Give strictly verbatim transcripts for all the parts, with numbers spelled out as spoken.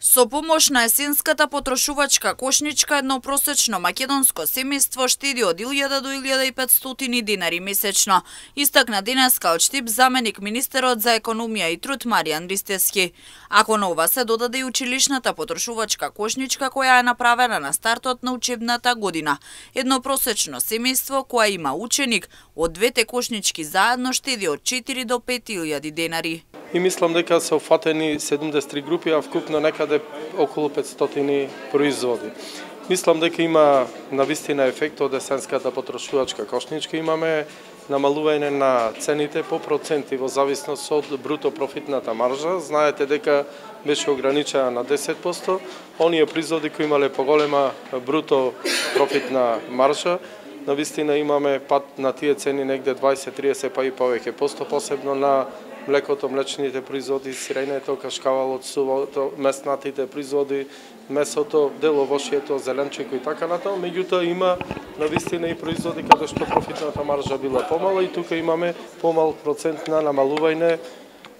Со помош на есенската потрошувачка кошничка, едно просечно македонско семејство штеди од илјада до илјада и петстотини динари месечно, истакна денес Калчтип заменик министерот за економија и труд Маријан Ристевски. Ако на ова се додаде и училишната потрошувачка кошничка која е направена на стартот на учебната година, едно просечно семејство која има ученик од двете кошнички заедно штеди од четири до пет илјади денари. И мислам дека се офатени седумдесет и три групи, а вкупно некаде околу петстотини производи. Мислам дека има навистина ефект од есенската потрошувачка кошничка. Имаме намалување на цените по проценти во зависност од бруто профитната маржа. Знаете дека беше ограничена на десет проценти. Оние производи кои имале поголема бруто профитна маржа, навистина имаме пат на тие цени негде дваесет до триесет па и повеќе посто, посебно на млекото, млечните производи, сирењето, кашкавалот, сувото, меснатите производи, месото, деловошието, зеленчеко и така натаму. Меѓутоа има навистина и производи каде што профитната маржа била помала и тука имаме помал процент на намалување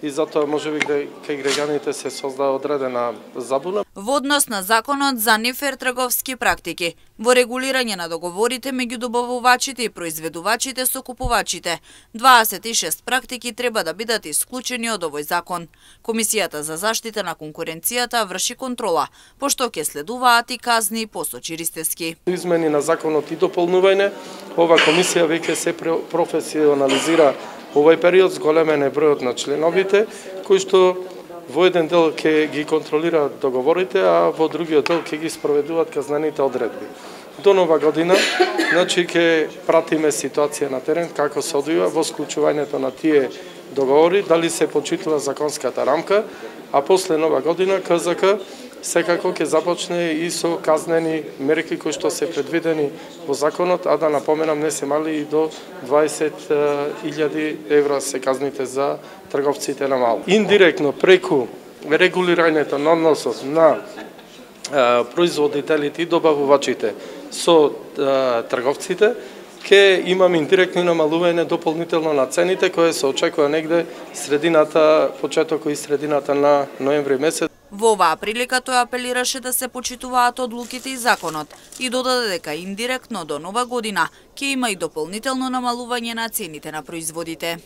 и затоа можеби кај граѓаните се создава одредена забуна. Во однос на законот за нефер трговски практики, во регулирање на договорите меѓу добавувачите и произведувачите со купувачите, дваесет и шест практики треба да бидат исклучени од овој закон. Комисијата за заштита на конкуренцијата врши контрола, пошто ќе следуваат и казни, посочи Ристевски. Измени на законот и дополнување, ова комисија веќе се професионализира овој период, зголемен е бројот на членовите, кои што во еден дел ќе ги контролираат договорите, а во другиот дел ќе ги спроведуваат казнените одредби. До нова година, значи ќе пратиме ситуација на терен, како се одвива во склучувањето на тие договори, дали се почитува законската рамка, а после нова година КЗК секако ќе започне и со казнени мерки кои што се предвидени во законот, а да напоменам не се мали и до дваесет илјади евра се казните за трговците на мало. Индиректно преку регулирањето на односот на производителите и добавувачите со трговците, ќе имаме индиректно намалување дополнително на цените кои се очекува негде средината, почетокот и средината на ноември месец. Во оваа прилика тој апелираше да се почитуваат одлуките и законот и додаде дека индиректно до нова година ќе има и дополнително намалување на цените на производите.